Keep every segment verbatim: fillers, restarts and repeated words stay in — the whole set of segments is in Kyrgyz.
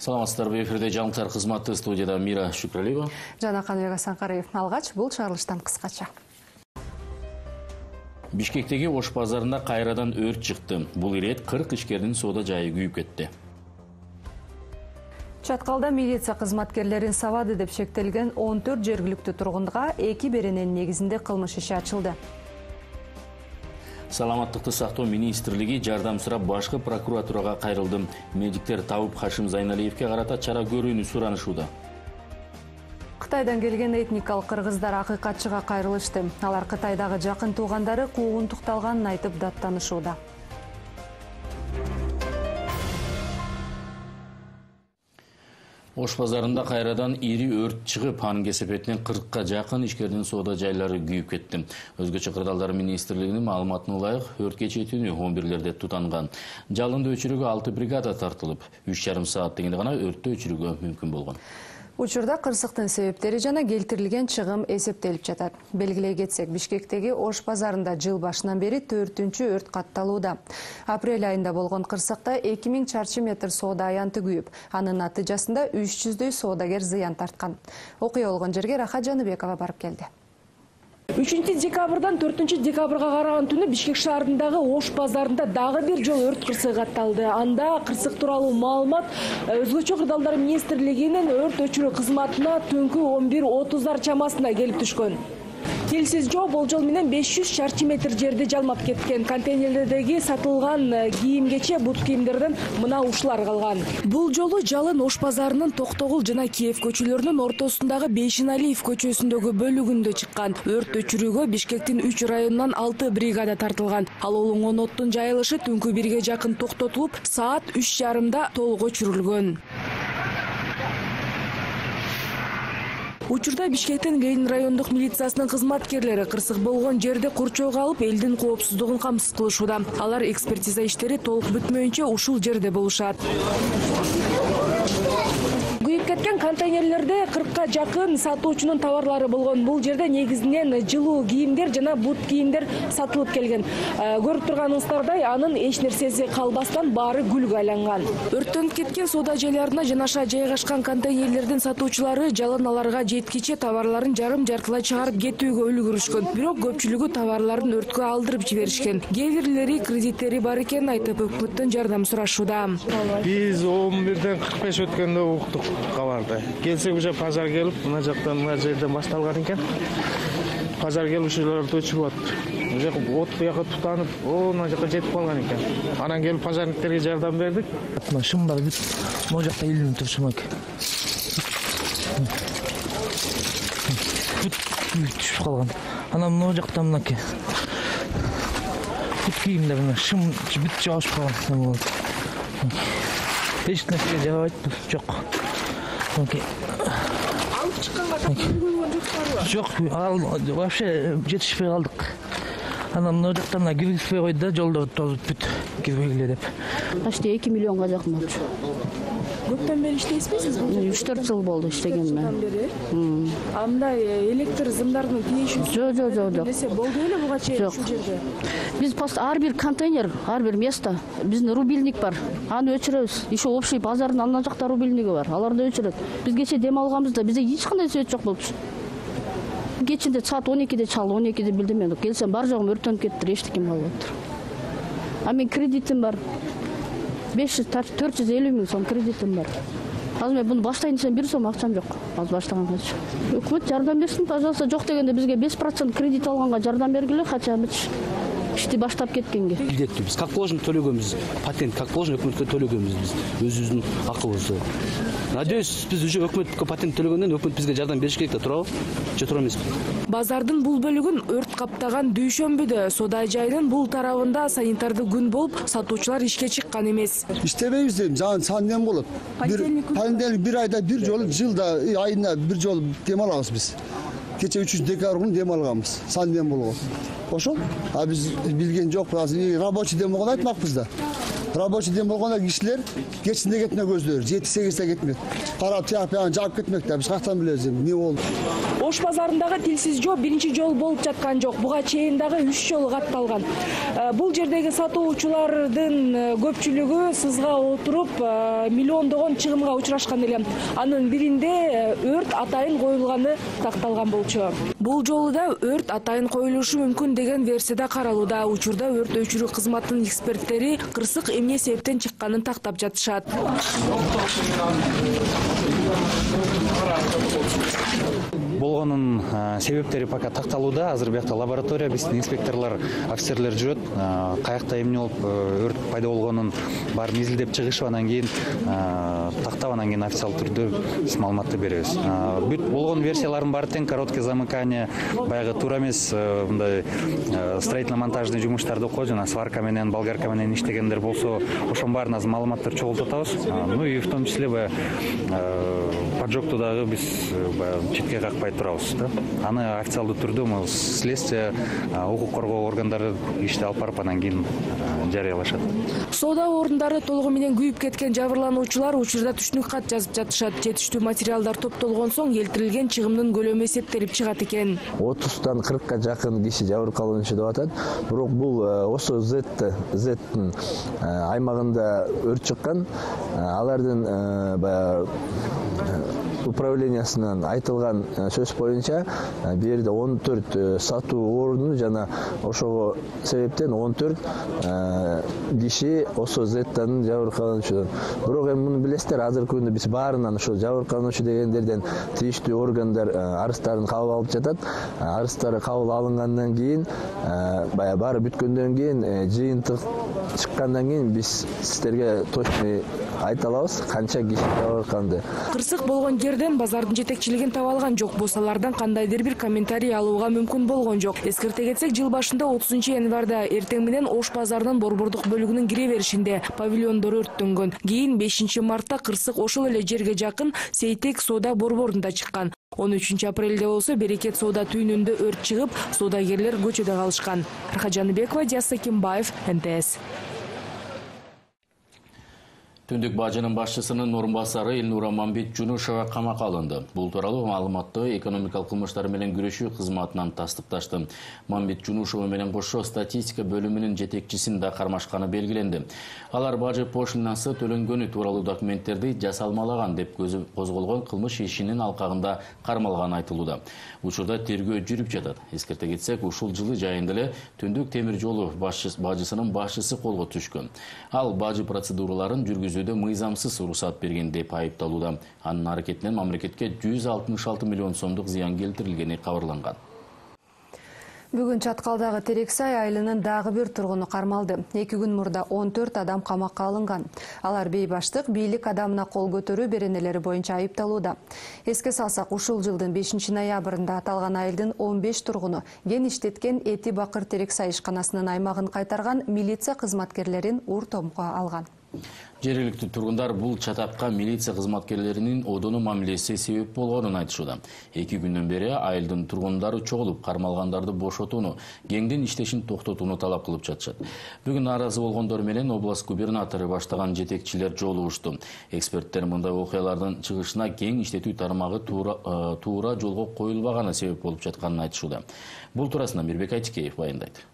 Саламатсыздарбы, эфирде жаңылыктар кызматы, студияда Мира Шүкралиева жана Каныбек Асанкариев. Алгач бул чыгарылыштан кыскача. Бишкектеги Ош базарында кайрадан өрт чыкты. Бул ирет кырк ишкердин соода жайы күйүп кетти. Чаткалда милиция кызматкерлерин сабады деп шектелген он төрт жергиликтүү тургунга эки берененин негизинде кылмыш иши ачылды. Саламаттыкты сактоо министрлиги жардам сурап башкы прокуратурага кайрылды. Медиктер табып Хашим Зайналиевке карата чара көрүүнү суранышууда. Кытайдан келген этникалык кыргыздар акыйкатчыга кайрылышты. Алар Кытайдагы жакын туугандары куугунтукталганын айтып даттанышууда. Ош базарында кайрадан ири өрт чыгып, анын кесепетинен кыркка жакын ишкердин соода жайлары күйүп кетти. Өзгөчө кырдаалдар министрлигинин маалыматына ылайык, өрткө чейин он бирлерде тутанган. Жалынды өчүрүүгө алты бригада тартылып, үч жарым саат дегенде гана өрттү өчүрүүгө мүмкүн болгон. Учурда кырсыктын себептери жана келтирилген чыгым эсептелип жатат. Белгилей кетсек, Бишкектеги Ош базарында жыл башынан бери төртүнчү өрт катталууда. Апрель айында болгон кырсыкта эки миң чарчы метр соода аянты күйүп, анын натыйжасында үч жүздөй соодагер зыян тарткан. Окуя болгон жерге Рахат Жаныбекова барып келди. үчүнчү декабрдан төртүнчү декабрга караган түнү Бишкек шаарындагы Ош базарында дагы бир жолу өрт кырсыгы катталды. Анда кырсык тууралуу маалымат Өзгөчө кырдаалдар министрлигинин өрт өчүрүү кызматына түнкү он бир отуздар чамасында келип түшкөн. Келсиз жоо болжол менен беш жүз чарчы метр жерди жалмап кеткен. Контейнерлердеги сатылган кийимгече, бут кийимдерден мына ушулар калган. Бул жолу жалын Ош базарынын Токтогул жана Киев көчөлөрүнүн ортосундагы Бейшеналиев көчөсүндөгү бөлүгүндө чыккан. Өрт өчүрүүгө Бишкектин үч районунан алты бригада тартылган. Ал олонгон оттун жайылышы түнкү бирге жакын токтотулуп, саат үч жарымда толук өчүрүлгөн. Учурда Бишкектин Ленин райондук милициясынын кызматкерлери кырсык болгон жерде курчоого алып, элдин коопсуздугун камсыз кылышууда. Алар экспертиза иштери толук бүтмөйүнчө ушул жерде болушат. Күйүп кеткен контейнерлерде кыркка жакын сатуучунун товарлары болгон. Бул жерде негизинен жылуу кийимдер жана бут кийимдер сатылып келген. Көрүп турганыңыздардай, анын эч нерсеси калбастан баары күлгө айланган. Өрттөнүп кеткен соода жайларына жанаша жайгашкан контейнерлердин сатуучулары жалын аларга жеткиче товарларын жарым жартылай чыгарып кетүүгө үлгүрүшкөн. Бирок көпчүлүгү товарларын өрткө алдырып жиберишкен. Кээ бирлери кредиттери бар экенин айтып, өкмөттөн жардам сурашууда. Биз он бирден кырк беш өткөндө уктук кабарды. Келсек уже пожар келип, мына жактан мына жерден башталган экен. Пожар келушуларды өчүрүп атып, уже от буяка тутанып, о, мына жака жетип калган экен. Анан келип пожарниктерге жардам бердик. Мына шымдар бүт могу жакта илинип турушум экен. Бүт түшүп калган. Анан могу жакта мынакей. Бүт кийимдер мына шым бүт жабышып калган. Эч нерсе жабайт, жок. Алып чыкканга көргөн жок, ал вообще жетишпей калдык. Анан мына жактан мына киргизбей койду да, жолдо тозуп бүт кирбегиле деп. Почти эки миллионга жакын болчу. Көптөн бери иштейсизби сиз? үч төрт жыл болду иштегениме. А мындай электр зымдардын тийиши жок, жок, жок, жок. Несе болду беле буга чейин ушул жерде? Биз пост ар бир контейнер, ар бир место, биздин рубильник бар. Аны өчүрөбүз. Еще общий базардын ана жакта рубильниги бар. Аларды өчүрөт. Биз кече дем алганбызда бизде эч кандай свет жок болчу. Кечинде саат он экиде чалды, он экиде билдим мен. Келсем бар жогум өрттөнүп кетти, эчтеке болуп атыр. А мен кредитим бар. беш жүз төрт жүз элүү миң сом кредитим бар. Азыр мен буну баштайын десем бир сом акчам жок. Азыр баштаганчы. Өкмөт жардам берсин, пожалуйста. Жок дегенде бизге беш процент кредит алганга жардам бергиле, хотя бы ишти баштап кеткенге. Биз как положено төлөгөнбүз. Патент как положено өкмөткө төлөгөнбүз биз. Өзүбүздүн акыбызды. Надеюсь, биз уже өкмөткө патент төлөгөндөн өкмөт бизге жардам бериш керек да, туурабы? Же туура эмеспи? Базардын бул бөлүгүн өрт каптаган дүйшөмбүдө соода жайынын бул тарабында санитардык күн болуп, сатуучулар ишке чыккан эмес. Иштебейбиз дейм, жан санден болот. Понедельник бир айда бир жолу, жылда айына бир жолу дем алабыз биз. Кече үчүнчү декабрь күнү дем алганбыз. Санден болгон. Ошол. А биз билген жокпуз. Азыр рабочий дем болгону айтмакпыз да. Рабочий дем болгондо кишилер кечинде кетмек өздөрү, жети сегизде кетмек. Карап тияп жаап кетмек да, биз каяктан билебиз эмне болду. Ош базарындагы тилсиз жол биринчи жолу болуп жаткан жок. Буга чейин дагы үч жолу катталган. Бул жердеги сатуучулардын көпчүлүгү сызга отуруп миллиондогон чыгымга учурашкан эле. Анын биринде өрт атайын коюлганы такталган болчу. Бул жолу да өрт атайын коюлушу мүмкүн деген версияда каралууда. Учурда өрт өчүрүү кызматынын эксперттери кырсык эмне себептен чыкканын тактап жатышат. Болгонун себептери пока такталууда. Азыр биякта лаборатория, биздин инспекторлор, офицерлер жүрөт. Каякта эмне болуп өрт пайда болгонун баарын изилдеп чыгышып, анан кийин тактап, анан кийин официалдуу түрдө биз маалыматты беребиз. Бүт болгон версиялардын баары тең, короткое замыкание, баягы туура эмес мындай строительно-монтажный жумуштарды окуп, жана сварка менен, болгарка менен иштегендер болсо, ошонун баарына азыр маалыматтарды чогултуп атабыз. Ну и в том числе баягы поджогту дагы биз четке какпай турабыз да. Аны официалдуу түрдө могу следствие, укук коргоо органдары ишти алып барып, анан кийин жарыялашат. Соода орундары толугу менен күйүп кеткен жабырлануучулар учурда түшүнүк кат жазып жатышат. Жетиштүү материалдар топтолгон соң келтирилген чыгымдын көлөмү эсептелип чыгат экен. отуздан кыркка жакын киши жабыркалуучу деп атат. Бирок бул ошо Зеттин аймагында өрт чыккан. Алардын баягы управлениясынан айтылган сөз боюнча бул жерде он төрт сатуу оруну жана ошого себептен он төрт киши ошо Зеттин жабыркалуучу. Бирок эми муну билесиздер, азыркы күндө биз баарынан ошо жабыркалуучу дегендерден тийиштүү органдар арыздарын кабыл алып жатат. Арыздары кабыл алынгандан кийин, баягы баары бүткөндөн кийин, жыйынтык чыккандан кийин биз сиздерге точно айта алабыз канча киши жабыркалды. Кырсык болгон жерден базардын жетекчилигин таба алган жок болсо, алардан кандайдыр бир комментарий алууга мүмкүн болгон жок. Эскерте кетсек, жыл башында отузунчу январда эртең менен Ош базарынын борбордук бөлүгүнүн кире беришинде павильондор өрттөнгөн. Кийин бешинчи мартта кырсык ошол эле жерге жакын Сейтек соода борборунда чыккан. он үчүнчү апрелде болсо Берекет соода түйүнүндө өрт чыгып, соодагерлер көчөдө калышкан. Рахат Жаныбекова, Диас Сакимбаев, Н Т С. Түндүк бажынын башчысынын орун басары Элнура Мамбетжунушова камакка алынды. Бул тууралуу маалыматты экономикалык кылмыштар менен күрөшүү кызматынан тастыпташты. Мамбетжунушова менен кошо статистика бөлүмүнүн жетекчисин да кармашканы белгиленди. Алар бажы пошлинасы төлөнгөнү тууралуу документтерди жасалмалаган деп козголгон кылмыш ишинин алкагында кармалганы айтылууда. Учурда тергөө жүрүп жатат. Эскерте кетсек, ушул жылы жайында эле Түндүк темир жолу бажысынын башчысы колго түшкөн. Ал бажы процедураларын жүргүзүүдө мыйзамсыз уруксат берген деп айыпталууда. Анын аракетинен мамлекетке жүз алтымыш алты миллион сомдук зыян келтирилгени кабарланган. Бүгүн Чаткалдагы Терексай айылынын дагы бир тургуну кармалды. Эки күн мурда он төрт адам камакка алынган. Алар бейбаштык, бийлик адамына кол көтөрүү беренелери боюнча айыпталууда. Эске салсак, ушул жылдын бешинчи ноябрында аталган айылдын он беш тургуну ген иштеткен Эти Бакыр Терексай ишканасынын аймагын кайтарган милиция кызматкерлерин ур-томго алган. Жергиликтүү тургундар бул чатакка милиция кызматкерлеринин одону мамилеси себеп болгонун айтышууда. Эки күндөн бери айылдын тургундары чогулуп, кармалгандарды бошотууну, геңдин иштешин токтотууну талап кылып жатышат. Бүгүн нааразы болгондор менен область губернатору баштаган жетекчилер жолугушту. Эксперттер мындай окуялардын чыгышына гең иштетүү тармагы туура, туура жолго коюлбаганы себеп болуп жатканын айтышууда. Бул туурасында Мирбек Айтикеев баяндайт.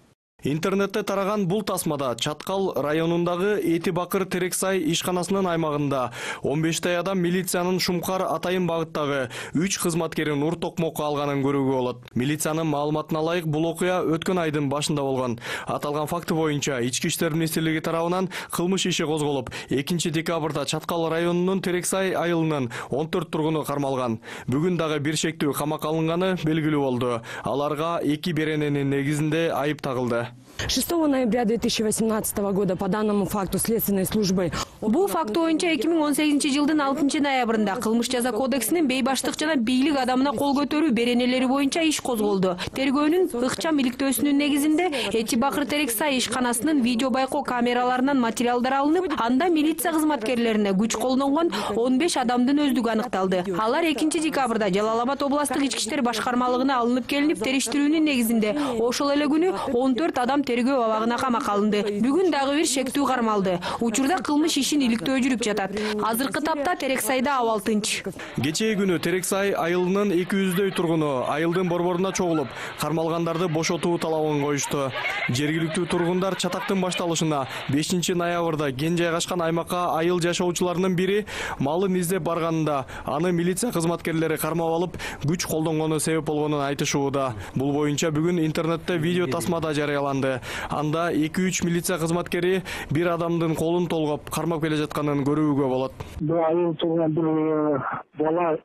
Интернетте тараган бул тасмада Чаткал районундагы Эти Бакыр Терексай ишканасынын аймагында он бештэй адам милициянын Шумкар Атайын багыттагы үч кызматкерин ур-токмокко алганын көрүүгө болот. Милициянын маалыматына ылайык, бул окуя өткөн айдын башында болгон. Аталган факты боюнча Ички иштер министрлиги тарабынан кылмыш иши козголуп, экинчи декабрда Чаткал районунун Терексай айылынын он төрт тургуну кармалган. Бүгүн дагы бир шектүү камакка алынганы белгилүү болду. Аларга эки берененин негизинде айып тагылды. шестого ноября две тысячи восемнадцатого года по данному факту следственной службы. Бул факт боюнча эки миң он сегизинчи жылдын алтынчы ноябрында кылмыш жаза кодексинин бейбаштык жана бийлик адамына кол көтөрүү беренелери боюнча иш козголду. Тергөөнүн ыкчам иликтөөсүнүн негизинде Эти Бакыр Терексай ишканасынын видео байкоо камераларынан материалдар алынып, анда милиция кызматкерлерине күч колдонгон он беш адамдын өздүгү аныкталды. Алар экинчи декабрда Жалал Абад областтык ички иштер башкармалыгына алынып келинип, териштирүүнүн негизинде ошол эле күнү он төрт адам тергөө абагына камакка алынды. Бүгүн дагы бир шектүү кармалды. Учурда кылмыш ишин иликтөө жүрүп жатат. Азыркы тапта Терексайда абал тынч. Кечээ күнү Терексай айылынын эки жүздөй тургуну айылдын борборуна чогулуп, кармалгандарды бошотуу талабын коюшту. Жергиликтүү тургундар чатактын башталышына бешинчи ноябрда ген жайгашкан аймакка айыл жашоочуларынын бири малын издеп барганында аны милиция кызматкерлери кармап алып, күч колдонгону себеп болгонун айтышууда. Бул боюнча бүгүн интернетте видео тасмада жарыяланды. Анда эки үч милиция кызматкери бир адамдын колун толгоп кармап келе жатканын көрүүгө болот. Бул айыл турган бир бала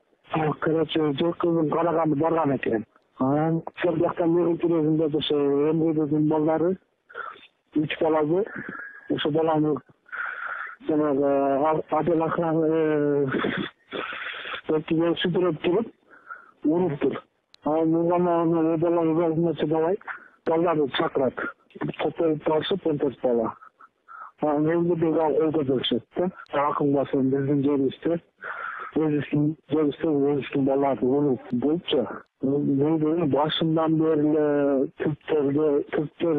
короче жокузун караганды барган экен. Анан сол жактан мери киргизинде ошо эмгедин балдары үч баласы ошо баланы жанагы адил охрана өтүгө сүдүрөп туруп уруптур. Анан мугана баланы өзүнө чыдабай балдарды чакырат. Топтоп алышып онтос бала. Анан эмгедин колго беришет да. Акын басып биздин жерибизде өзүнүн жерибизде өзүнүн балдарды уруп болчу. Başından beri Türkler, Türkler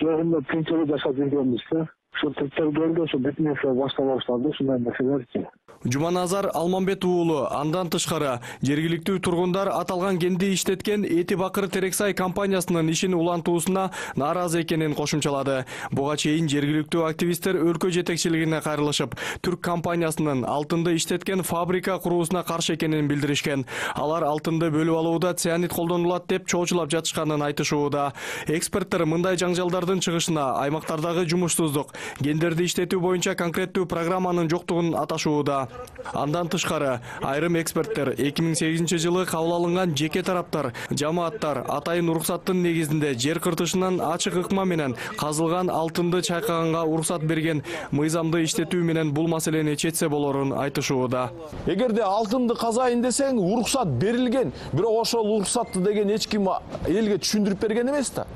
yerinde Türkleri yaşadı diyormuştu. Şu Türkler geldi, şu bitmese başta başladı, şundan meseleler ki. Жуманазар Алмамбет уулу андан тышкары жергиликтүү тургундар аталган кенди иштеткен Эти Бакыр Терексай компаниясынын ишин улантуусуна нааразы экенин кошумчалады. Буга чейин жергиликтүү активисттер өлкө жетекчилигине кайрылышып, түрк компаниясынын алтынды иштеткен фабрика куруусуна каршы экенин билдиришкен. Алар алтынды бөлүп алууда цианид колдонулат деп чоочулап жатышканын айтышууда. Эксперттер мындай жаңжалдардын чыгышына аймактардагы жумушсуздук, гендерди иштетүү боюнча конкреттүү программанын жоктугун аташууда. Андан тышкары айрым эксперттер эки миң сегизинчи жылы кабыл алынган жеке тараптар, жамааттар атайын уруксаттын негизинде жер кыртышынан ачык ыкма менен казылган алтынды чайкаганга уруксат берген мыйзамды иштетүү менен бул маселени чечсе болорун айтышууда. Эгерде алтынды казайын десең, уруксат берилген, бирок ошол уруксатты деген эч ким элге түшүндүрүп берген эмес да.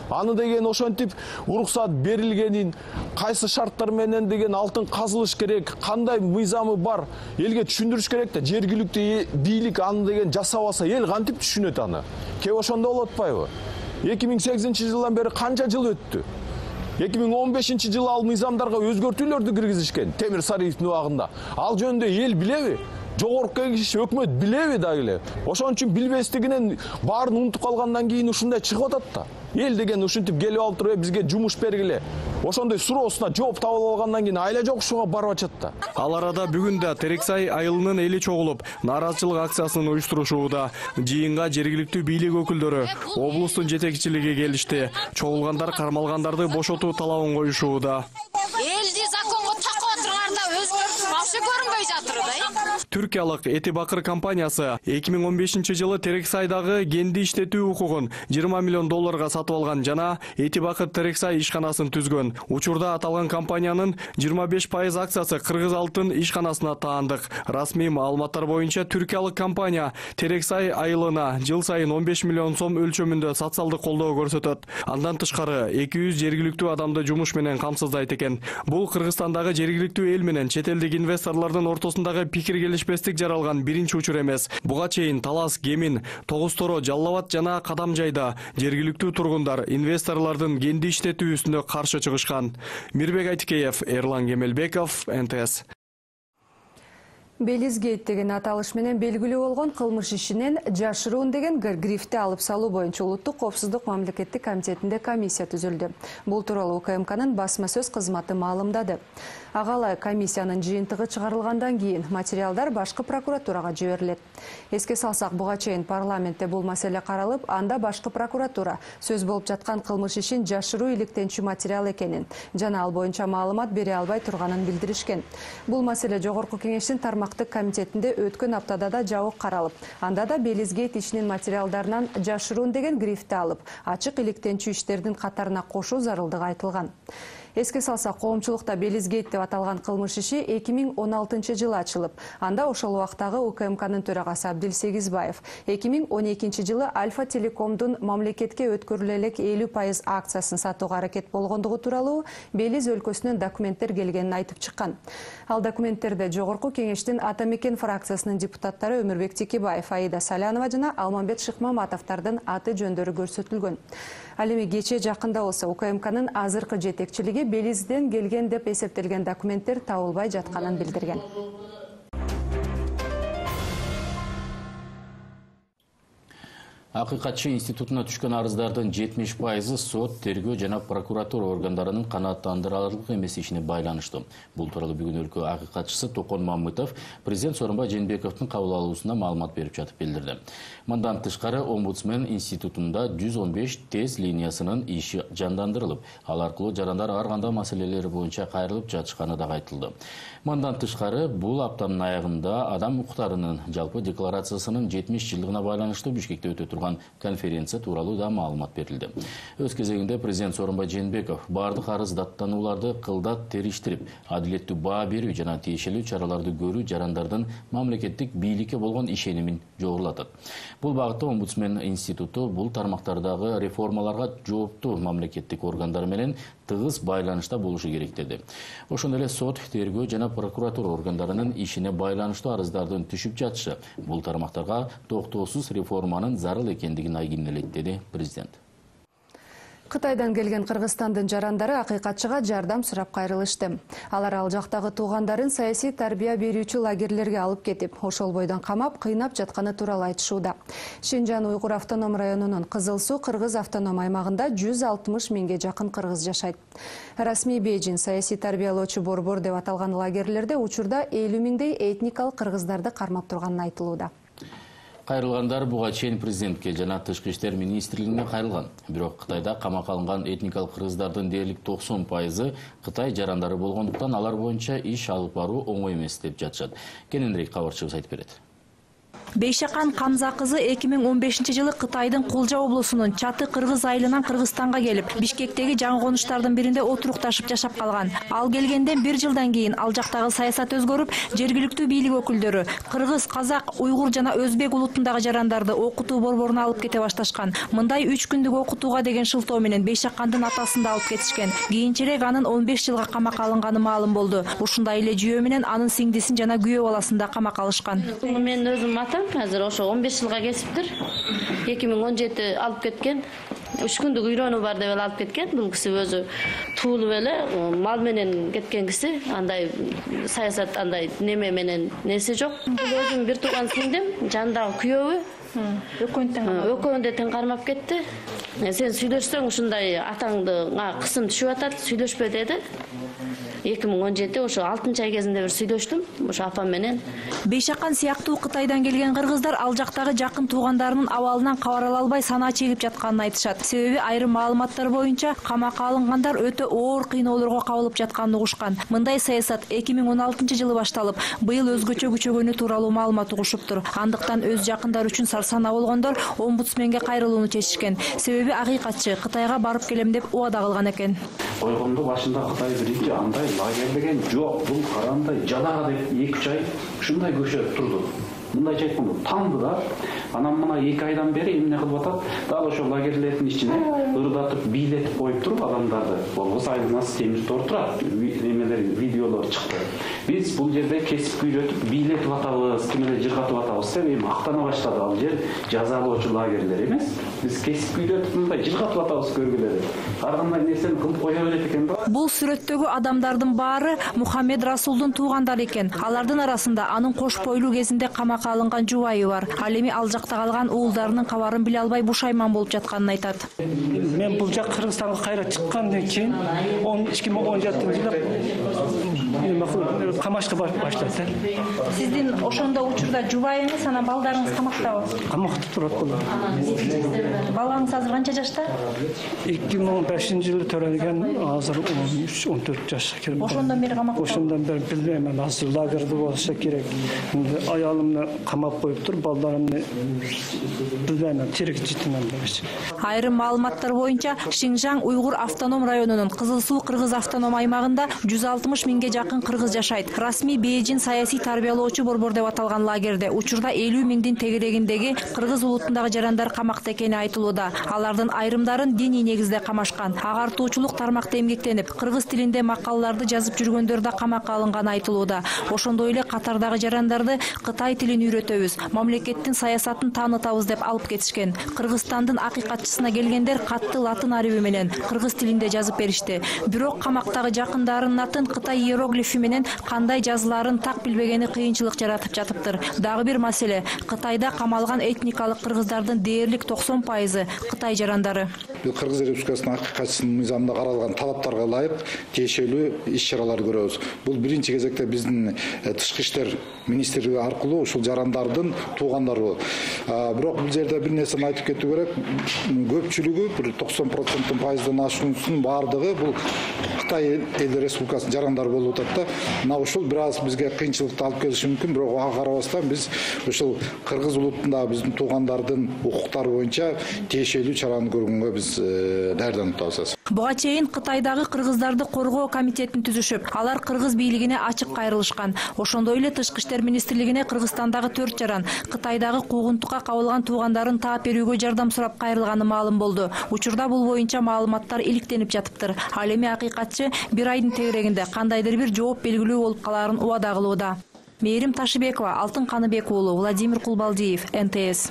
Аны деген ошентип уруксат берилгенин, кайсы шарттар менен деген алтын казылыш керек, кандай мыйзамы бар, элге түшүндүрүш керек да. Жергиликтүү бийлик аны деген жасабаса, эл кантип түшүнөт аны? Кеп ошондо болуп атпайбы? эки миң сегизинчи жылдан бери канча жыл өттү? эки миң он бешинчи жылы ал мыйзамдарга өзгөртүүлөрдү киргизишкен Темир Сариевдин убагында. Ал жөнүндө эл билеби? Жогорку кеңеш өкмөт билеби дагы эле. Ошон үчүн билбестигинен баарын унутуп калгандан кийин ушундай чыгып атат да. Эл деген ушинтип келип алып туруп бизге жумуш бергиле. Ошондой суроосуна жооп таба алгандан кийин айла жокшуга барып атат да. Ал арада бүгүн да Терексай айылынын эли чогулуп, нааразычылык акциясын уюштурушууда. Жыйынга жергиликтүү бийлик өкүлдөрү, облустун жетекчилиги келишти. Чогулгандар кармалгандарды бошотуу талабын коюшууда. Элди законго такоо турганда өзгөрүш вообще көрүнбөй жатыр да. Түркиялык Эти Бакыр компаниясы эки миң он бешинчи жылы Терексайдагы кенди иштетүү укугун жыйырма миллион долларга сатып алган жана Эти Бакыр Терексай ишканасын түзгөн. Учурда аталган компаниянын жыйырма беш пайыз акциясы Кыргыз алтын ишканасына таандык. Расмий маалыматтар боюнча түркиялык компания Терексай айылына жыл сайын он беш миллион сом өлчөмүндө социалдык колдоо көрсөтөт. Андан тышкары эки жүз жергиликтүү адамды жумуш менен камсыздайт экен. Бул Кыргызстандагы жергиликтүү эл менен чет элдик инвесторлордун ортосундагы пикир келишпестик жаралган биринчи учур эмес. Буга чейин Талас, Кемин, Тогуз Торо, Жалал Абад жана Кадамжайда жергиликтүү тургундар инвесторлордун кенди иштетүүсүнө каршы чыгышкан. Мирбек Айтикеев, Эрлан Кемелбеков, эн тэ эс. Белизгейт деген аталыш менен белгилүү болгон кылмыш ишинен жашыруун деген грифти алып салуу боюнча улуттук коопсуздук мамлекеттик комитетинде комиссия түзүлдү. Бул тууралуу УКМКнын басма сөз кызматы маалымдады. Агалай комиссиянын жыйынтыгы чыгарылгандан кийин материалдар башкы прокуратурага жиберилет. Эске салсак, буга чейин парламентте бул маселе каралып, анда башкы прокуратура сөз болуп жаткан кылмыш ишин жашыруу иликтенчү материал экенин жана ал боюнча маалымат бере албай турганын билдиришкен. Бул маселе жогорку кеңештин тармактык комитетинде өткөн аптада да жабык каралып, анда да Белизгейт ишинин материалдарынан жашыруун деген грифти алып, ачык иликтенчү иштердин катарына кошуу зарылдыгы айтылган. Эске салсак, коомчулукта Белизгейт деп аталган кылмыш иши эки миң он алтынчы жылы ачылып, анда ошол убактагы УКМКнын төрагасы Абдил Сегизбаев эки миң он экинчи жылы Альфа Телекомдун мамлекетке өткөрүлө элек элүү пайыз акциясын сатууга аракет болгондугу тууралуу Белиз өлкөсүнөн документтер келгенин айтып чыккан. Ал документтерде жогорку кеңештин Ата Мекен фракциясынын депутаттары Өмүрбек Текебаев, Аида Салянова жана Алмамбет Шыкмаматовдордун аты жөндөрү көрсөтүлгөн. Ал эми кече жакында болсо УКМКнын азыркы жетекчилиги Белизден келген деп эсептелген документтер табылбай жатканын билдирген. Акыйкатчы институтуна түшкөн арыздардын жетимиш пайызы сот, тергөө жана прокуратура органдарынын канааттандырарлык эмес ишине байланыштуу. Бул тууралуу бүгүн өлкө акыйкатчысы Токон Мамытов президент Сооронбай Жээнбековдун кабыл алуусунда маалымат берип жатып билдирди. Мындан тышкары омбудсмен институтунда жүз он беш тез линиясынын иши жандандырылып, ал аркылуу жарандар ар кандай маселелери боюнча кайрылып жатышканы да айтылды. Мындан тышкары бул аптанын аягында адам укуктарынын жалпы декларациясынын жетимиш жылдыгына байланыштуу Бишкекте өтө турган конференция тууралуу да маалымат берилди. Өз кезегинде президент Сооронбай Жээнбеков бардык арыз даттанууларды кылдат териштирип, адилеттүү баа берүү жана тиешелүү чараларды көрүү жарандардын мамлекеттик бийликке болгон ишенимин жогорулатат. Бул багытта омбудсмен институту бул тармактардагы реформаларга жооптуу мамлекеттик органдар менен тыгыз байланышта болушу керек деди. Ошондой эле сот, тергөө жана прокуратура органдарынын ишине байланыштуу арыздардын түшүп жатышы бул тармактарга токтоосуз реформанын зарыл экендигин айгинелейт, деди президент. Кытайдан келген Кыргызстандын жарандары акыйкатчыга жардам сурап кайрылышты. Алар ал жактагы туугандарын саясий тарбия берүүчү лагерлерге алып кетип, ошол бойдон камап, кыйнап жатканы тууралуу айтышууда. Шинжан Уйгур автоном районунун Кызыл Суу кыргыз автоном аймагында жүз алтымыш миңге жакын кыргыз жашайт. Расмий Бейжин саясий тарбиялоочу борбор деп аталган лагерлерде учурда элүү миңдей этникалык кыргыздарды кармап турганын айтылууда. Кайрылгандар буга чейин президентке жана тышкы иштер министрлигине кайрылган. Бирок Кытайда камакка алынган этникалык кыргыздардын дээрлик токсон пайызы Кытай жарандары болгондуктан алар боюнча иш алып баруу оңой эмес деп жатышат. Кененирээк кабарчыбыз айтып берет. Бейшакан Камза кызы эки миң он бешинчи жылы Кытайдын Кулжа облусунун Чаты кыргыз айылынан Кыргызстанга келип, Бишкектеги жаңы конуштардын биринде отурукташып жашап калган. Ал келгенден бир жылдан кийин ал жактагы саясат өзгөрүп, жергиликтүү бийлик өкүлдөрү кыргыз, казак, уйгур жана өзбек улутундагы жарандарды окутуу борборуна алып кете башташкан. Мындай үч күндүк окутууга деген шылтоо менен Бейшакандын атасын да алып кетишкен. Кийинчерээк анын он беш жылга камакка алынганы маалым болду. Ушундай эле жүйө менен анын сиңдисин жана күйөө баласын да камакка алышкан. Мен өзүм атам азыр ошо он беш жылга кесиптир. эки миң он жети алып кеткен. үч күндүк үйрөнүү бар деп алып кеткен. Бул киши өзү туулуп эле мал менен кеткен киши. Андай саясат андай неме менен неси жок. Бул өзүм бир тууган сиңдим, жандагы күйөөбү. Экөөүн да тең кармап кетти. Сен сүйлөшсөң ушундай атаңды кысым түшүп атат, сүйлөшпө деди. эки миң он жети ошо алтынчы ай кезинде бир сүйлөштүм ошо апам менен. Бейшакан сыяктуу Кытайдан келген кыргыздар ал жактагы жакын туугандарынын абалынан кабар ала албай санаа чегип жатканын айтышат. Себеби айрым маалыматтар боюнча камакка алынгандар өтө оор кыйноолорго кабылып жатканын угушкан. Мындай саясат эки миң он алтынчы жылы башталып, быйыл өзгөчө күчөгөнү тууралуу маалымат угушуптур. Андыктан өз жакындары үчүн сарсанаа болгондор омбудсменге кайрылууну чечишкен. Себеби акыйкатчы Кытайга барып келем деп убада кылган экен. Койгондо башында Кытай биринчи андай лагерь деген жок, бул карандай жадага деп эки үч ай ушундай көчөп турду. Мындайча айтканда танды да. Анан мына эки айдан бери эмне кылып атат? Дал ошо лагерлердин ичине ырдатып, бийлетип коюп туруп адамдарды. Болбосо айланасы темир тор турат, эмелер, видеолор чыкты. Биз бул жерде кесип үйрөтүп, бийлетип атабыз, кимелер жыргатып атабыз деп эми мактана баштады. Ал жер жазалоочу лагерлер эмес. Биз кесип үйрөтүп, мындай жыргатып атабыз көргүлөрү. Ар кандай нерсени кылып кое берет экен да. Бул сүрөттөгү адамдардын баары Мухаммед Расулдун туугандары экен. Алардын арасында анын кош бойлуу кезинде камакка алынган жубайы бар. Ал эми ал жакта калган уулдарынын кабарын биле албай бушайман болуп жатканын айтат. Мен бул жак Кыргызстанга кайра чыккандан кийин эки миң он жетинчи жылы камашка баштады. Сиздин ошондо учурда жубайыңыз, анан балдарыңыз камактабы? Камакта турат булар. Балаңыз азыр канча жашта? эки миң он бешинчи жылы төрөлгөн, азыр он үч он төрт жашка кирди. Ошондон бери камакта. Ошондон бери билбейм, азыр лагерде болсо керек. Аялымны камап коюп туруп, балдарымны билбейм, тирик житинен бериш. Айрым маалыматтар боюнча Шинжан Уйгур автоном районунун Кызыл Суу кыргыз автоном аймагында жүз алтымыш миңге жакын кыргыз жашайт. Расмий Бейжин саясий тарбиялоочу борбор деп аталган лагерде учурда элүү миңдин тегерегиндеги кыргыз улутундагы жарандар камакта экени айтылууда. Алардын айрымдарын диний негизде камашкан. Агартуучулук тармакта эмгектенип, кыргыз тилинде макалаларды жазып жүргөндөр да камакка алынганы айтылууда. Ошондой эле катардагы жарандарды Кытай тилин үйрөтөбүз, мамлекеттин саясатын таанытабыз деп алып кетишкен. Кыргызстандын акыйкатчысына келгендер катты латын ариби менен кыргыз тилинде жазып беришти. Бирок камактагы жакындарынын атын Кытай иероглифи менен кандай жазыларын так билбегени кыйынчылык жаратып жатыптыр. Дагы бир маселе, Кытайда камалган этникалык кыргыздардын дээрлик токсон пайызы Кытай жарандары. Кыргыз Республикасынын акыйкатчысынын мыйзамында каралган талаптарга ылайык тиешелүү иш-чаралар көрөбүз. Бул биринчи кезекте биздин тышкы иштер министрлиги аркылуу ушул жарандардын туугандары. Бирок бул жерде бир нерсени айтып кетүү керек. Көпчүлүгү бир токсон проценттен пайыздан ашуусунун баардыгы бул Кытай Эл Республикасынын жарандары болуп атат да. Мына ушул бир аз бизге кыйынчылыкты алып келиши мүмкүн, бирок ага карабастан биз ушул кыргыз улутундагы биздин туугандардын укуктары боюнча тиешелүү чараны көргөнгө биз даярданып атабыз. Буга чейин Кытайдагы кыргыздарды коргоо комитетин түзүшүп, алар кыргыз бийлигине ачык кайрылышкан. Ошондой эле тышкы иштер министрлигине Кыргызстандагы төрт жаран Кытайдагы куугунтукка кабылган туугандарынын таап берүүгө жардам сурап кайрылганы маалым болду. Учурда бул боюнча маалыматтар иликтенип жатыптыр. Ал эми акыйкатчы бир айдын тегерегинде кандайдыр бир жооп белгилүү болуп калаарын убада кылууда. Мээрим Ташыбекова, Алтын Каныбек уулу, Владимир Кулбалдиев, Н Т С.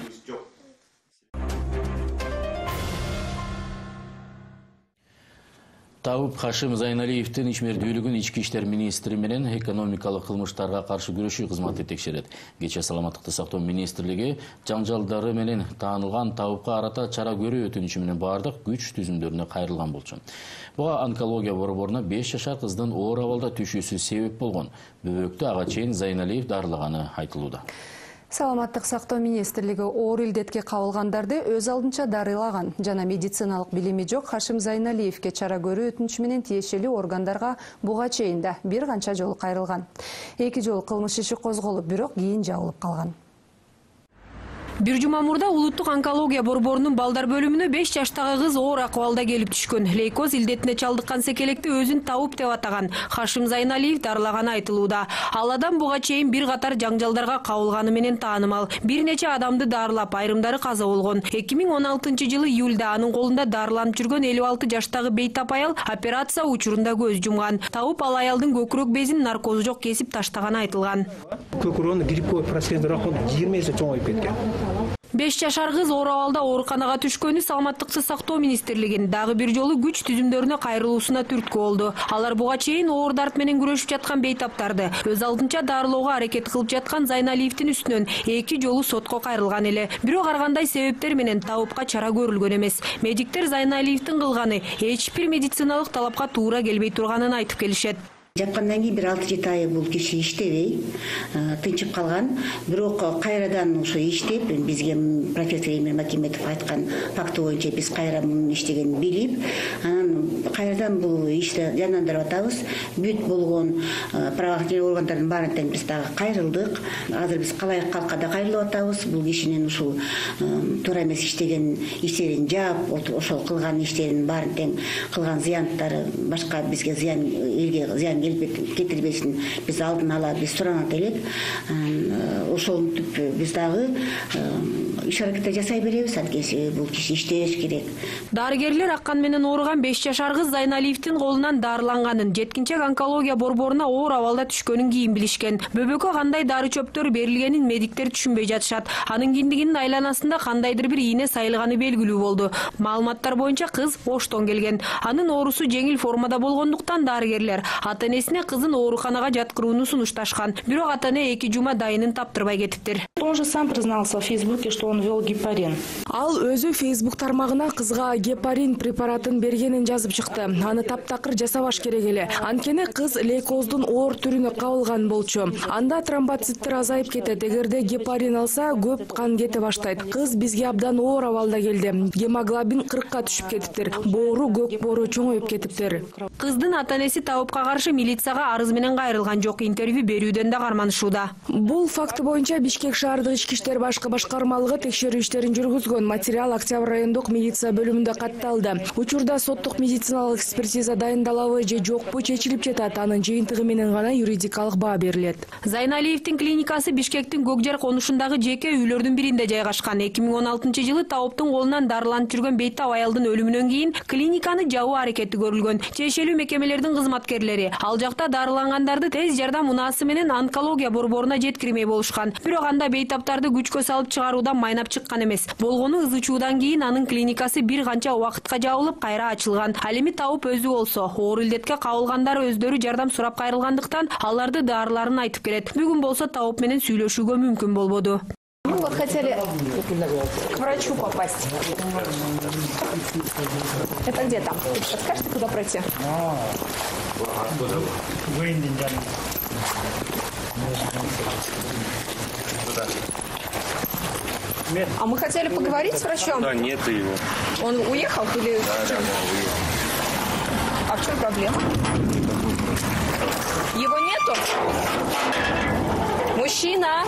Тауып Хашим Зайналиевдин ишмердүүлүгүн ички иштер министри менен экономикалык кылмыштарга каршы күрөшүү кызматы текшерет. Кечээ саламаттыкты сактоо министрлиги жаңжалдары менен таанылган Тауупка карата чара көрүү өтүнүчү менен бардык күч түзүмдөрүнө кайрылган болчу. Буга онкология борборуна беш жашар кыздын оор абалда түшүүсү себеп болгон. Бөбөктү ага чейин Зайналиев дарылаганы айтылууда. Саламаттык сактоо министрлиги оор илдетке кабылгандарды өз алдынча дарылаган жана медициналык билими жок Хашим Зайналиевге чара көрүү өтүнүчү менен тиешелүү органдарга буга чейин да бир канча жолу кайрылган. Эки жолу кылмыш иши козголуп, бирок кийин жабылып калган. Бир жума мурда улуттук онкология борборунун балдар бөлүмүнө беш жаштагы кыз оор акыбалда келип түшкөн. Лейкоз илдетине чалдыккан секелекти өзүн Тауып деп атаган Хашим Зайналиев дарылаганы айтылууда. Ал адам буга чейин бир катар жаңжалдарга кабылганы менен таанымал. Бир нече адамды дарылап, айрымдары каза болгон. эки миң он алтынчы жылы июлда анын колунда дарыланып жүргөн элүү алты жаштагы бейтап аял операция учурунда көз жумган. Тауып ал аялдын көкүрөк безин наркозу жок кесип таштаганы айтылган. Көкүрөгүнө гриппой процесс жыйырма эсе чоңоюп кеткен. беш жашар кыз оор абалда ооруканага түшкөнү Саламаттыкты сактоо министрлигинин дагы бир жолу күч түзүмдөрүнө кайрылуусуна түрткү болду. Алар буга чейин оор дарт менен күрөшүп жаткан бейтаптарды өз алдынча дарылоого аракет кылып жаткан Зайналиевдин үстүнөн эки жолу сотко кайрылган эле. Бирок ар кандай себептер менен Тауупка чара көрүлгөн эмес. Медиктер Зайналиевдин кылганы эч бир медициналык талапка туура келбей турганын айтып келишет. Жапкандан кийин бир алты жети ай бул киши иштебей тынчып калган. Бирок кайрадан ошо иштеп, бизге профессор Эмир Макиметов айткан факты боюнча биз кайра мунун иштегенин билип, анан кайрадан бул ишти жандандырып атабыз. Бүт болгон правоохранительный органдардын баарын тең биз дагы кайрылдык. Азыр биз калайык калкка да кайрылып атабыз. Бул кишинин ушул туура эмес иштеген иштерин жаап, ошол кылган иштерин баарын тең кылган зыяндары башка бизге зыян, элге зыян кетирбесин биз алдын ала биз суранат элек. Ошентип биз дагы иш аракет жасай беребиз, анткени бул киши иштеш керек. Дарыгерлер аккан менен ооруган беш жашар кыз Зайналиевдин колунан дарыланганын, жеткинчек онкология борборуна оор абалда түшкөнүн кийин билишкен. Бөбөккө кандай дары чөптөр берилгенин медиктер түшүнбөй жатышат. Анын киндигинин айланасында кандайдыр бир ийне сайылганы белгилүү болду. Маалыматтар боюнча кыз Оштон келген. Анын оорусу жеңил формада болгондуктан дарыгерлер ата-энесине кызын ооруканага жаткырууну сунушташкан. Бирок ата-эне эки жума дайынын таптырбай кетиптир. Он же сам признался в Фейсбуке, что он вел гепарин. Ал өзү Facebook тармагына кызга гепарин препаратын бергенин жазып чыкты. Аны таптакыр жасабаш керек эле. Анткени кыз лейкоздун оор түрүнө кабылган болчу. Анда тромбоциттер азайып кетет. Эгерде гепарин алса, көп кан кете баштайт. Кыз бизге абдан оор абалда келди. Гемоглобин кыркка түшүп кетиптир. Боору, көк боору чоңоюп кетиптир. Кыздын ата-энеси Тауупка каршы милицияга арыз менен кайрылган жок. Интервью берүүдөн да карманышууда. Бул факты боюнча Бишкек шаар шаардык ички иштер башкы башкармалыгы текшерүү иштерин жүргүзгөн. Материал Октябрь райондук милиция бөлүмүндө катталды. Учурда соттук медициналык экспертиза дайындалабы же жокпу чечилип жатат. Анын жыйынтыгы менен гана юридикалык баа берилет. Зайналиевдин клиникасы Бишкектин Көкжар конушундагы жеке үйлөрдүн биринде жайгашкан. эки миң он алтынчы жылы Тауптун колунан дарыланып жүргөн бейтап аялдын өлүмүнөн кийин клиниканы жабуу аракети көрүлгөн. Тиешелүү мекемелердин кызматкерлери ал жакта дарылангандарды тез жардам унаасы менен онкология борборуна жеткирмей болушкан. Бирок анда бейтаптарды күчкө салып чыгаруудан майнап чыккан эмес. Болгону ызы чуудан кийин анын клиникасы бир канча убакытка жабылып, кайра ачылган. Ал эми Тауп өзү болсо, оор илдетке кабылгандар өздөрү жардам сурап кайрылгандыктан аларды дарыларын айтып келет. Бүгүн болсо Тауп менен сүйлөшүүгө мүмкүн болбоду. Мы вот хотели к врачу попасть. Это где там? Подскажете, куда пройти? А мы хотели поговорить с врачом? Да, нет его. Он уехал или? Да, да, да, уехал. А в чем проблема? Его нету? Мужчина!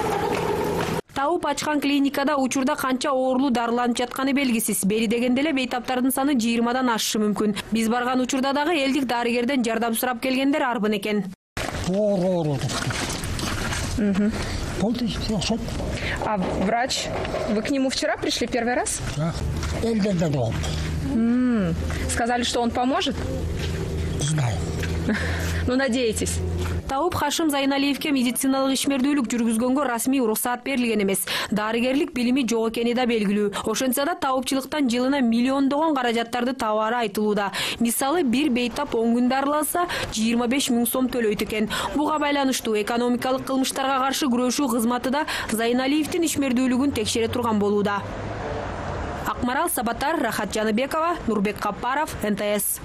Тауп ачкан клиникада учурда канча оорлуу дарыланып жатканы белгисиз. Бери дегенде эле бейтаптардын саны жыйырмадан ашышы мүмкүн. Биз барган учурда дагы элдик дарыгерден жардам сурап келгендер арбын экен. А врач, вы к нему вчера пришли первый раз? Да. М-м. Сказали, что он поможет? Знаю. Ну, надеетесь? Тауп Хашим Зайналиевке медициналык ишмердүүлүк жүргүзгөнгө расмий уруксаат берилген эмес. Дарыгерлик билими жок экени да белгилүү. Ошентсе да таупчылыктан жылына миллиондогон каражаттарды табаары айтылууда. Мисалы, бир бейтап он күн дарыланса, жыйырма беш миң сом төлөйт экен. Буга байланыштуу экономикалык кылмыштарга каршы күрөшүү кызматы да Зайналиевдин ишмердүүлүгүн текшере турган болууда. Акмарал Сабатар, Рахат Жаныбекова, Нурбек Каппаров, эн тэ эс.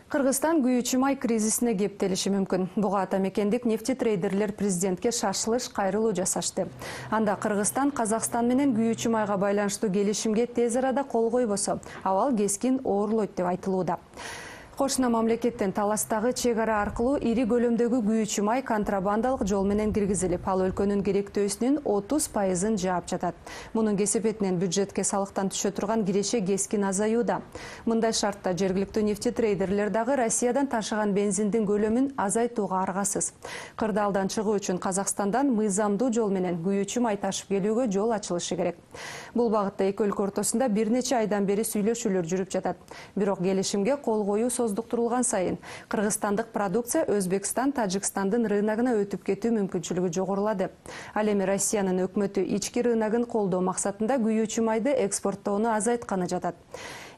Кыргызстан күйүүчү май кризисине кептелиши мүмкүн. Буга атамекендик нефти трейдерлер президентке шашылыш кайрылуу жасашты. Анда Кыргызстан Казакстан менен күйүүчү майга байланыштуу келишимге тез арада кол койбосо, абал кескин оорлойт деп айтылууда. Кошуна мамлекеттен таластагы чек ара аркылуу ири көлөмдөгү күйүүчү май контрабандалык жол менен киргизилип, ал өлкөнүн керектөөсүнүн отуз пайызын жаап жатат. Мунун кесепетинен бюджетке салыктан түшө турган киреше кескин азаюуда. Мындай шартта жергиликтүү нефти трейдерлер дагы Россиядан ташыган бензиндин көлөмүн азайтууга аргасыз. Кырдаалдан чыгуу үчүн Казакстандан мыйзамдуу жол менен күйүүчү май ташып келүүгө жол ачылышы керек. Бул багытта эки өлкө ортосунда бир нече айдан бери сүйлөшүүлөр жүрүп жатат. Бирок келишимге кол коюу создуктурулган сайын кыргызстандык продукция Өзбекстан, Тажикстандын рыногуна өтүп кетүү мүмкүнчүлүгү жогорулады. Ал эми Россиянын өкмөтү ички рыногун колдоо максатында күйүүчү майды экспорттоону азайтканы жатат.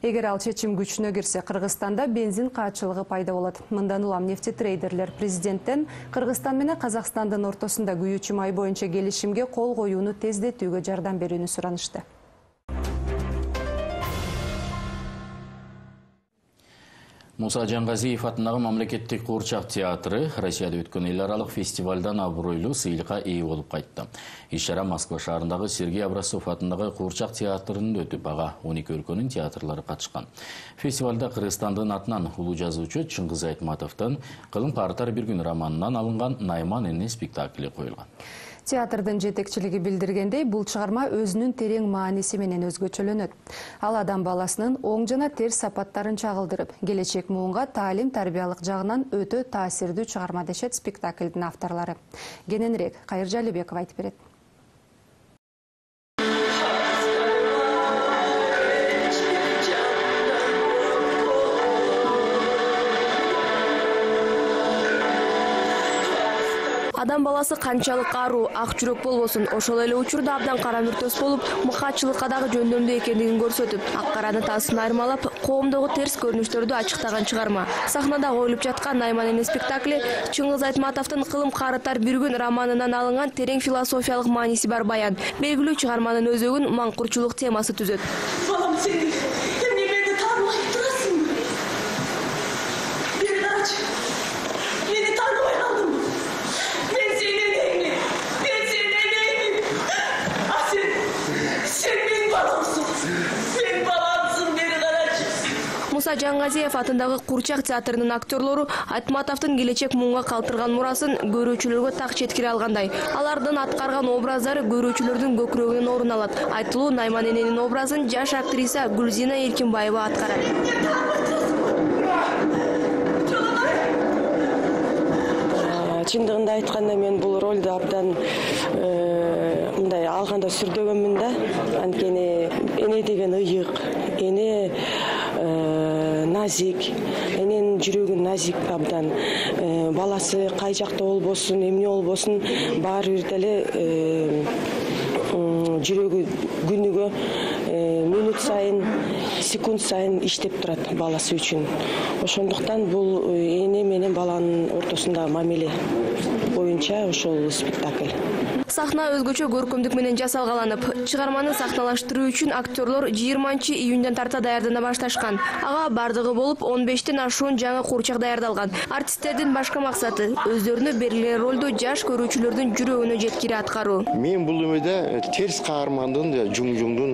Эгер ал чечим күчүнө кирсе, Кыргызстанда бензин каачылыгы пайда болот. Мындан улам нефти трейдерлер президенттен Кыргызстан менен Казакстандын ортосунда күйүүчү май боюнча келишимге кол коюуну тездетүүгө жардам берүүнү суранышты. Муса Жангазиев атындагы мамлекеттик куурчак театры Россияда өткөн эл аралык фестивалдан абройлуу сыйлыкка ээ болуп кайтты. Иш-чара Москва шаарындагы Сергей Образцов атындагы куурчак театрында өтүп, ага он эки өлкөнүн театрлары катышкан. Фестивалда Кыргызстандын атынан улуу жазуучу Чыңгыз Айтматовдун Кылым картар бир күн романынан алынган Найман эне спектакли коюлган. Театрдын жетекчилиги билдиргендей, бул чыгарма өзүнүн терең мааниси менен өзгөчөлөнөт. Ал адам баласынын оң жана терс сапаттарын чагылдырып, келечек муунга таалим тарбиялык жагынан өтө таасирдүү чыгарма дешет спектаклдин авторлору. Кененирээк Кайыр Жалибеков айтып берет. Адам баласы канчалык аруу, ак жүрөк болбосун, ошол эле учурда абдан кара мүртөс болуп, мыкаачылыкка дагы жөндөмдүү экендигин көрсөтүп, ак караны таасын айырмалап, коомдогу терс көрүнүштөрдү ачыктаган чыгарма. Сахнада коюлуп жаткан Найман эне спектакли Чыңгыз Айтматовдун Кылым карытар бир күн романынан алынган терең философиялык мааниси бар баян. Белгилүү чыгарманын өзөгүн маңкурчулук темасы түзөт. Балам, сен эмне мени тааныбай турасыңбы? Бери карачы. Мени тааныбай калдыңбы? Муса Муса Жаңгазиев атындагы Курчак театрынын актерлору Айтматовдун келечек муңга калтырган мурасын көрүүчүлөргө так жеткире алгандай. Алардын аткарган образдары көрүүчүлөрдүн көкүрөгүнөн орун алат. Айтылуу Найман эненин образын жаш актриса Гүлзина Эркинбаева аткарат. Чындыгында айтканда мен бул ролду абдан мындай алганда сүрдөгөнмүн да. Анткени эне деген ыйык, эне назик, эненин жүрөгү назик абдан. Баласы кай жакта болбосун, эмне болбосун, баары бир деле жүрөгү күнүгө мүнөт сайын, секунд сайын иштеп турат баласы үчүн. Ошондуктан бул эне менен баланын ортосундагы мамиле боюнча ошол спектакль. Сахна өзгөчө көркөмдүк менен жасалгаланып, чыгарманы сахналаштыруу үчүн актерлор жыйырманчы июндан тарта даярдана башташкан. Ага бардыгы болуп он бештен ашуун жаңы курчак даярдалган. Артисттердин башкы максаты өзлөрүнө берилген ролду жаш көрүүчүлөрдүн жүрөгүнө жеткире аткаруу. Мен бул өмөдө терс каармандын, жуң-жуңдун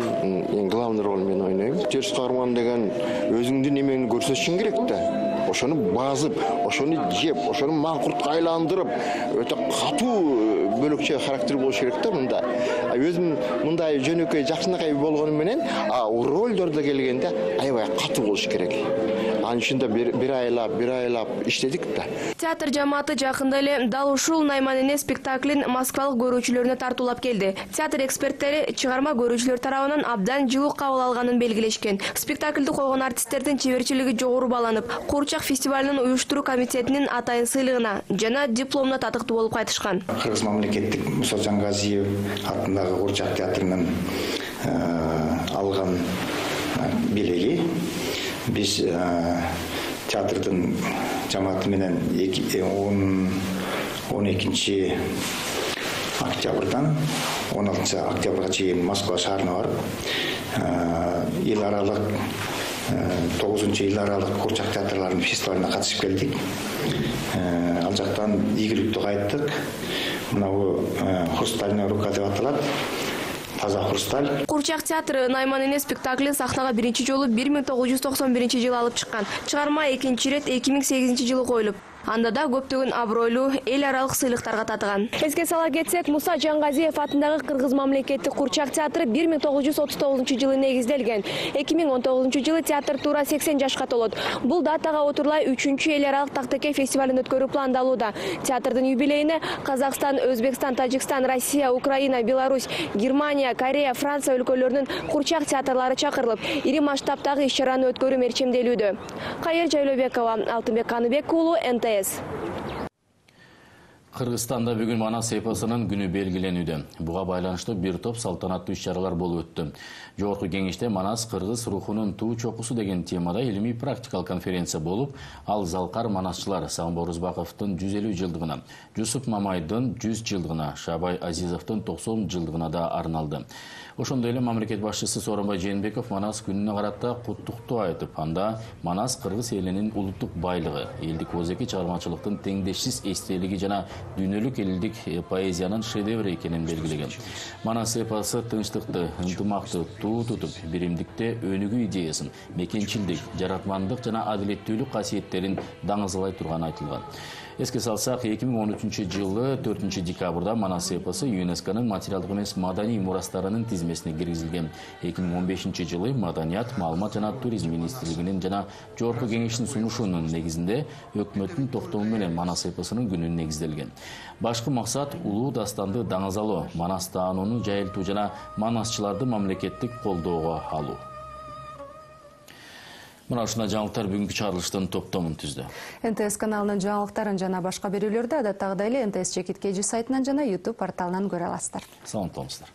эң главный ролун мен ойнойм. Терс каарман деген өзүңдүн эмеңди көрсөтүшүң керек да. Ошону базып, ошону жеп, ошону маңкуртка айландырып, өтө катуу бөлөкчө характер болуш керек да мында. Өзүм мындай жөнөкөй жакшынакай болгону менен, а ролдордо келгенде аябай катуу болуш керек. Анын үчүн да бир айлап, бир айлап иштедик да. Театр жамааты жакында эле дал ушул Найман эне спектаклин москвалык көрүүчүлөрүнө тартуулап келди. Театр эксперттери чыгарма көрүүчүлөр тарабынан абдан жылуу кабыл алганын белгилешкен. Спектакльди койгон артисттердин чеберчилиги жогору бааланып, Курчак фестивалынын уюштуруу комитетинин атайын сыйлыгына жана дипломуна татыктуу болуп кайтышкан. Кыргыз мамлекеттик Муса Жаңгазиев атындагы Курчак театрынын алган белеги. Биз театрдын жамааты менен он экинчи октябрдан он алтынчы октябрга чейин Москва шаарына барып, эл аралык тогузунчу эл аралык Курчак театрларынын фестивалына катышып келдик. Ал жактан ийгиликтүү кайттык. Мынау хрустальная рука деп аталат. Таза хрусталь. Курчак театры Найман эне спектаклин сахнага биринчи жолу бир миң тогуз жүз токсон биринчи жылы алып чыккан. Чыгарма экинчи ирет эки миң сегизинчи жылы коюлуп, анда да көптөгөн абройлуу эл аралык сыйлыктарга татыган. Эске сала кетсек, Муса Жаңгазиев атындагы Кыргыз мамлекеттик Курчак театры бир миң тогуз жүз отуз тогузунчу жылы негизделген. эки миң он тогузунчу жылы театр туура сексен жашка толот. Бул датага отурлай үчүнчү эл аралык Тактеке фестивалын өткөрүү пландалууда. Театрдын юбилейине Казакстан, Өзбекстан, Тажикстан, Россия, Украина, Беларусь, Германия, Корея, Франция өлкөлөрүнүн Курчак театрлары чакырылып, ири масштабтагы иш-чараны өткөрүү мерчемделүүдө. Кайыр Жайлообекова, Алтынбек Каныбек уулу, эн тэ эс. Кыргызстанда бүгүн Манас эпосунун күнү белгиленүүдө. Буга байланыштуу бир топ салтанаттуу иш-чаралар болуп өттү. Жогорку кеңеште Манас кыргыз рухунун туу чокусу деген темада илимий практикалык конференция болуп, ал залкар манасчылар Сагынбай Орузбаковдун жүз элүү жылдыгына, Жусуп Мамайдын жүз жылдыгына, Шабай Азизовдун токсон жылдыгына да арналды. Ошондой эле мамлекет башчысы Сооронбай Жээнбеков Манас күнүнө карата куттуктоо айтып, анда Манас кыргыз элинин улуттук байлыгы, элдик озеки чыгармачылыктын теңдешсиз эстелиги жана дүйнөлүк элдик поэзиянын шедеври экенин белгилеген. Манас эпосу тынчтыкты, ынтымакты туу тутуп, биримдикте өнүгүү идеясын, мекенчилдик, жаратмандык жана адилеттүүлүк касиеттерин даңызалай турганы айтылган. Эске салсак, эки миң он үчүнчү жылы төртүнчү декабрда Манас эпосу ЮНЕСКОнун материалдык эмес маданий мурастарынын тизмесине киргизилген. эки миң он бешинчи жылы Маданият, маалымат жана туризм министрлигинин жана Жогорку кеңештин сунушунун негизинде өкмөттүн токтому менен Манас эпосунун күнү негизделген. Башкы максат улуу дастанды даңазалоо, Манас таанууну жайылтуу жана манасчыларды мамлекеттик колдоого алуу. Мына ушундай жаңылыктар бүгүнкү чыгарылыштын топтомун түздү. эн тэ эс каналынын жаңылыктарын жана башка берүүлөрдү адаттагыдай эле эн тэ эс чекит кей жүз сайтынан жана YouTube порталынан көрө аласыздар. Саламат болуңуздар.